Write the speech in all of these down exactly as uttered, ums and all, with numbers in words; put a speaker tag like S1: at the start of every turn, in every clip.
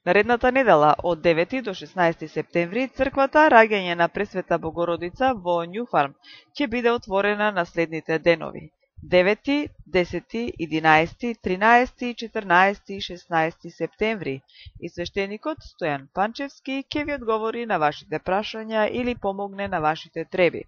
S1: Наредната недела од девети до шеснаесети септември црквата Раѓање на Пресвета Богородица во Њуфарм ќе биде отворена на следните денови: девети, десети, единаесети, тринаесети, четрнаесети и шеснаесети септември, и свештеникот Стојан Панчевски ќе ви одговори на вашите прашања или помогне на вашите треби.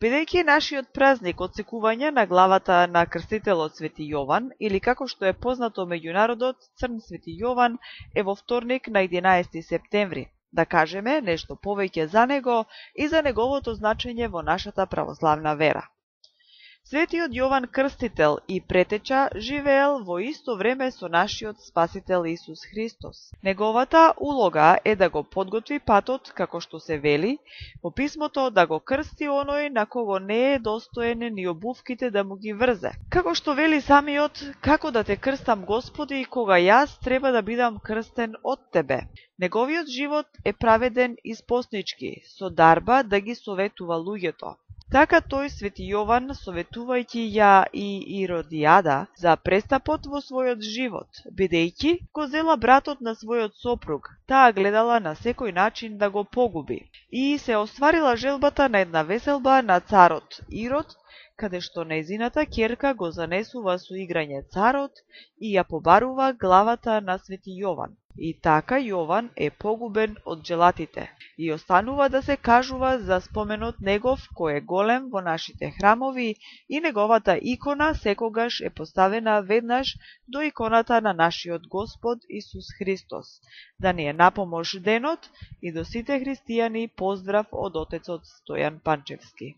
S1: Бидејќи нашиот празник одсекување на главата на крстителот Свети Јован, или како што е познато меѓу народот Црн Свети Јован, е во вторник на единаесети септември, да кажеме нешто повеќе за него и за неговото значење во нашата православна вера. Светиот Јован Крстител и претеча живеел во исто време со нашиот Спасител Исус Христос. Неговата улога е да го подготви патот, како што се вели во писмото, да го крсти оној на кого не е достоен ни обувките да му ги врзе. Како што вели самиот: како да те крстам, Господи, кога јас треба да бидам крстен од Тебе. Неговиот живот е праведен и споснички, со дарба да ги советува луѓето. Така тој Свети Јован, советувајќи ја и Иродијада за престапот во својот живот, бидејќи го зела братот на својот сопруг, таа гледала на секој начин да го погуби, и се остварила желбата на една веселба на царот Ирод, каде што нејзината ќерка го занесува со играње царот и ја побарува главата на Свети Јован. И така Јован е погубен од джелатите и останува да се кажува за споменот негов, кој е голем во нашите храмови, и неговата икона секогаш е поставена веднаш до иконата на нашиот Господ Исус Христос. Да ни е напомош денот, и до сите христијани поздрав од отецот Стојан Панчевски.